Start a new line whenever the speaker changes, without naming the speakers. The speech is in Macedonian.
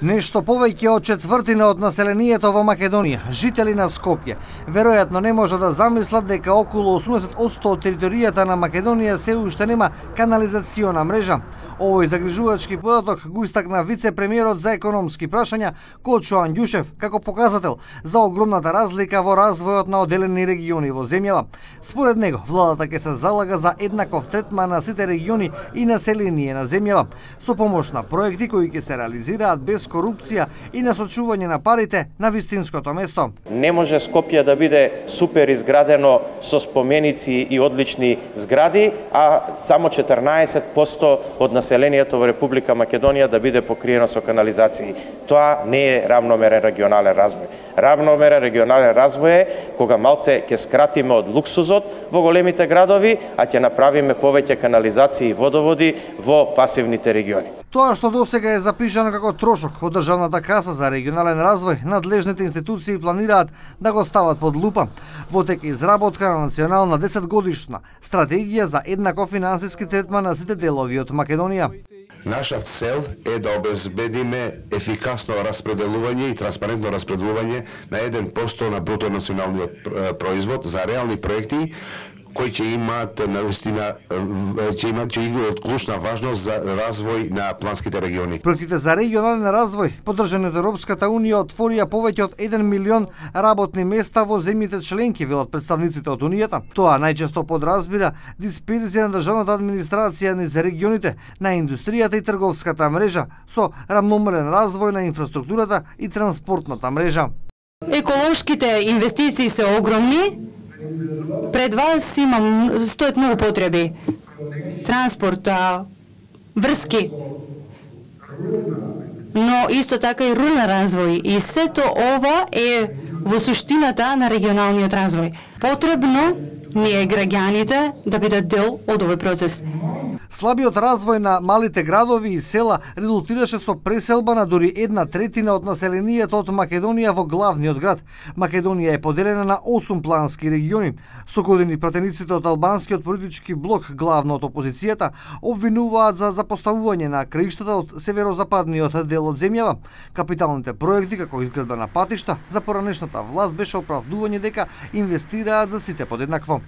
Нешто повеќе од четвртина од населението во Македонија, жители на Скопје, веројатно не може да замислат дека околу 80% од територијата на Македонија се уште нема канализациона мрежа. Овој загрижувачки податок го истакна вице-премиерот за економски прашања Кочо Андјушев како показател за огромната разлика во развојот на одделени региони во земјава. Според него, владата ќе се залага за еднаков третман на сите региони и население на земјава, со помош на проекти кои ќе се реализираат без корупција и насочување на парите на вистинското место.
Не може Скопје да биде супер изградено со споменици и одлични згради, а само 14% од населението во Република Македонија да биде покриено со канализации. Тоа не е равномерен регионален развој. Равномерен регионален развој е кога малце ќе скратиме од луксузот во големите градови, а ќе направиме повеќе канализации и водоводи во пасивните региони.
Тоа што досега е запишано како трошок од државната каса за регионален развој, надлежните институции планираат да го стават под лупа. Во тек изработка на национална 10-годишна стратегија за еднаков финансиски третман на сите делови од Македонија.
Наша цел е да обезбедиме ефикасно распределување и транспарентно распределување на 1% на бруто националниот производ за реални проекти кои ќе имаат навистина ќе играат клучна важност за развој на планските региони.
Проектите за регионален развој, поддржани од Европската унија, отворија повеќе од 1 милион работни места во земјите членки, велат представниците од унијата. Тоа најчесто подразбира дисперзија на државната администрација низ регионите, на индустријата и трговската мрежа, со рамномерен развој на инфраструктурата и транспортната мрежа.
Еколошките инвестиции се огромни. Пред вас стојат многу потреби. Транспорт, врски, но исто така и рурален развој. И сето ова е во суштината на регионалниот развој. Потребно ни е граѓаните да бидат дел од овој процес.
Слабиот развој на малите градови и села резултираше со преселба на дури 1/3 од населението од Македонија во главниот град. Македонија е поделена на 8 плански региони. Со години пратениците од албанскиот политички блок, главно од опозицијата, обвинуваат за запоставување на краиштата од северозападниот дел од земјава. Капиталните проекти, како изградба на патишта, за поранешната власт беше оправдување дека инвестираат за сите подеднакво.